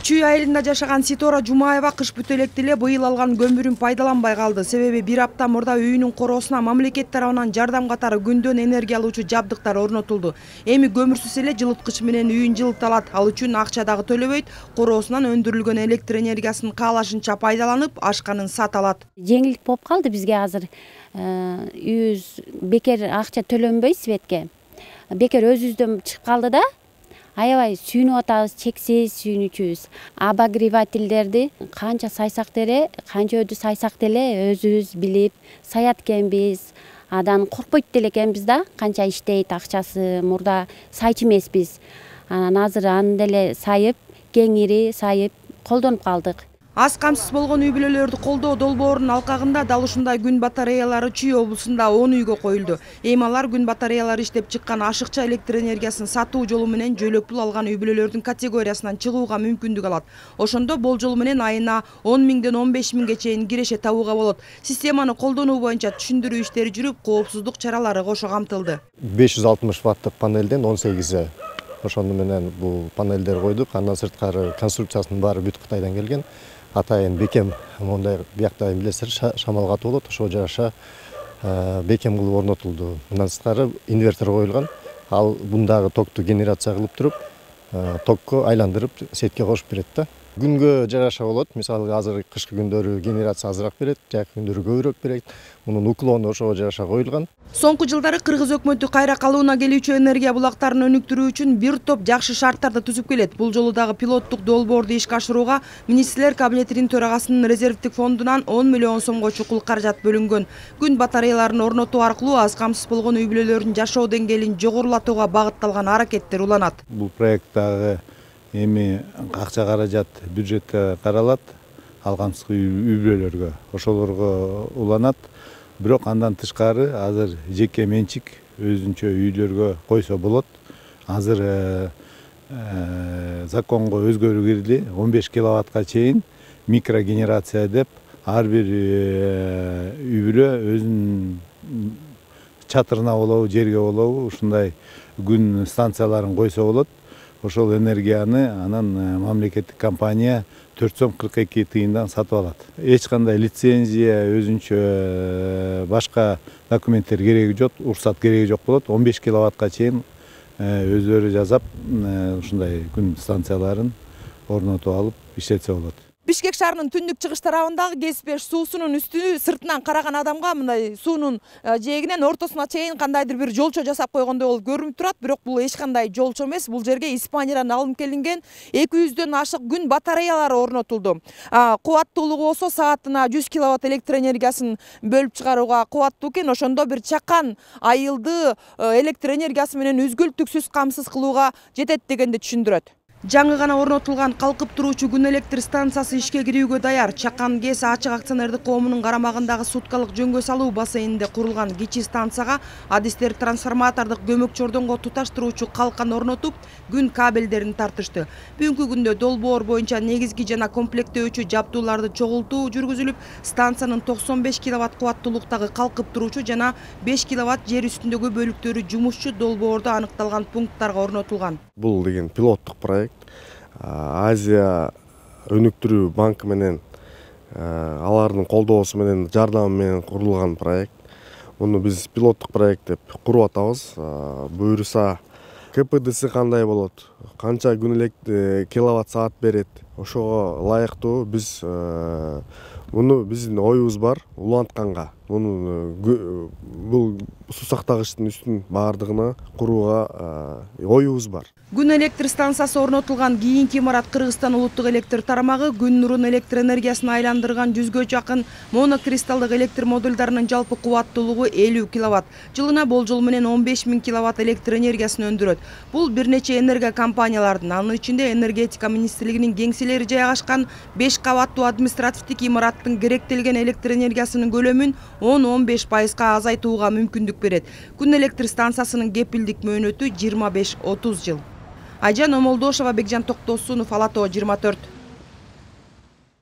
Чүй айылында жашаган Ситора Жумаева кыш бүтө электе эле быйыл алган көмүрүн пайдаланбай калды. Себеби бир апта мурда үйүнүн короосуна мамлекет тарабынан жардам катары күндөн энергия алуучу жабдыктар орнотулду. Эми көмүрсүз эле жылыткыч менен үйүн жылыта алат. Ал үчүн акча дагы төлөбөйт. Короосунан өндүрүлгөн электр энергиясын каалашынча пайдаланып, ашканын сата алат. Жеңилдик болуп калды бизге азыр. Үйүбүз бекер акча төлөнбөй светке. Бекер өзүбүздөн чыгып калды да. Аябай сүйүнүп атабыз, чексиз сүйүнүчүбүз. Обогревательдерди канча сайсак деле, канча өдү сайсак деле өзүбүз билип саят экенбиз. Адан коркпойт деле экенбиз да, канча иштейт акчасы, мурда сайчу эмеспиз. Анан азыр аны деле сайып, кеңири сайып колдонуп калдык. Аз камсыз болгон үй бүлөлөрдү колдоо долбоорунун алкагында дал ушундай күн батареялары Чүй облусунда 10 үйгө коюлду. Эми алар күн батареялары иштеп чыккан ашыкча электр энергиясын сатуу жолу менен жөлөк пул алган үй бүлөлөрдүн категориясынан чыгууга мүмкүндүк алат. Ошондо болжол менен айына 10 миңден 15 миңге чейин киреше табууга болот. Системаны колдонуу боюнча түшүндүрүү иштери жүрүп, коопсуздук чаралары кошо камтылды. 560 ваттык панелден 18 ошону менен бул панелдер койдук. Андан сырткары конструкциясынын баары бүт Кытайдан келген. Атайын бекем мондай биякта билесиздер шамал катуу болот, ошого жараша бекем кылып орнотулду. Мындан сырткары инвертор коюлган. Ал бундагы токту генерация кылып туруп, токко айландырып сетке кошуп берет да. Күнгө жараша болот. Мисалы азыр кышкы күндөрү генерация азыраак берет, жайкы күндөрү көбүрөөк берет. Мунун уклону ошого жараша коюлган. Соңку жылдары Кыргыз өкмөтү кайра калыбына келүүчү энергия булактарын өнүктүрүү үчүн бир топ жакшы шарттарды түзүп келет. Бул жолу дагы пилоттук долбоорду ишке ашырууга Министрлер кабинетинин төрагасынын резервдик фондунан 10 миллион сомго чукул каражат бөлүнгөн. Күн батареяларын орнотуу аркылуу аз камсыз болгон үй бүлөлөрдүн жашоо деңгээлин жогорулатууга багытталган аракеттер уланат. Бул проекттагы эми акча каражат бюджетте каралат, ал камсыз үй бүлөлөргө, ошолорго уланат. Бирок андан тышкары азыр жеке менчик өзүнчө үйлөргө койсо болот. Азыр законго өзгөрүү кирди. 15 киловаттка чейин микрогенерация деп ар бир үй бүлө өзүнүн чатырына болобу, жерге болобу ушундай күн станцияларын койсо болот. Ошол энергияны анан мамлекеттик компания 4 сом 42 тыйындан сатып алат. Эч кандай лицензия, өзүнчө башка документтер кереги жок, уруксат кереги жок болот. 15 киловаттка чейин өздөрү жасап, ушундай күн станцияларын орнотуп алып иштетсе болот. Бишкек шаарынын түндүк чыгыш тарабындагы Кеспеш суусунун үстү сыртынан караган адамга мындай суунун жээгинен ортосуна чейин кандайдыр бир жолчо жасап койгондой болуп көрүнүп турат, бирок бул эч кандай жолчо эмес. Бул жерге Испаниядан алынып келинген 200дөн ашык күн батареялары орнотулду. Кубаттуулугу болсо саатына 100 киловатт электр энергиясын бөлүп чыгарууга кубаттуу экен. Ошондо бир чакан айылды электр энергиясы менен үзгүлтүксүз камсыз кылууга жетет дегенди түшүндүрөт. Жаңы гана орнотулган калкып туруучу күн электр станциясы ишке кирүүгө даяр. Чакан ГЭС ачык акционердик коомунун карамагындагы суткалык жөнгө салуу бассейнинде курулган кичи станцияга адистер трансформатордук көмөк чордонго туташтыруучу калкан орнотуп, күн кабелдерин тартышты. Бүгүнкү күндө долбоор боюнча негизги жана комплектөөчү жабдууларды чогултуу жүргүзүлүп, станциянын 95 киловатт кубаттуулуктагы калкып туруучу жана 5 киловатт жер үстүндөгү бөлүктөрү жумушчу долбоордо аныкталган пункттарга орнотулган. Бул деген пилоттук проект. Азия өнүктүрүү банкы менен алардын колдоосу менен жардамы менен курулган проект. Муну биз пилоттук проект деп куруп атабыз. Буюрса КПДси кандай болот, канча күн электр киловатт саат берет, ошого ылайыктуу биз муну биздин оюбуз бар улантканга. Муну бул суу сактагычтын үстүн баардыгына курууга оюбуз бар. Күн электр станциясы орнотулган кийинки имарат Кыргызстан улуттук электр тарамагы күн нурун электр энергиясына айландырган 100гө жакын монокристалдык электр модулдарынын жалпы кубаттуулугу 50 киловатт. Жылына болжол менен 15 миң киловатт электр энергиясын өндүрөт. Бул бир нече энергия компаниялардын, анын ичинде энергетика министрлигинин кеңселери жайгашкан 5 кабаттуу административдик имараттын керектелген электр энергиясынын көлөмүн 10-15% азайтууга мүмкүндүк берет. Күн электр станциясынын кепилдик мөөнөтү 25-30 жыл. Айжан Омолдошова, Бекжан Токтосунов, Ала Тоо 24.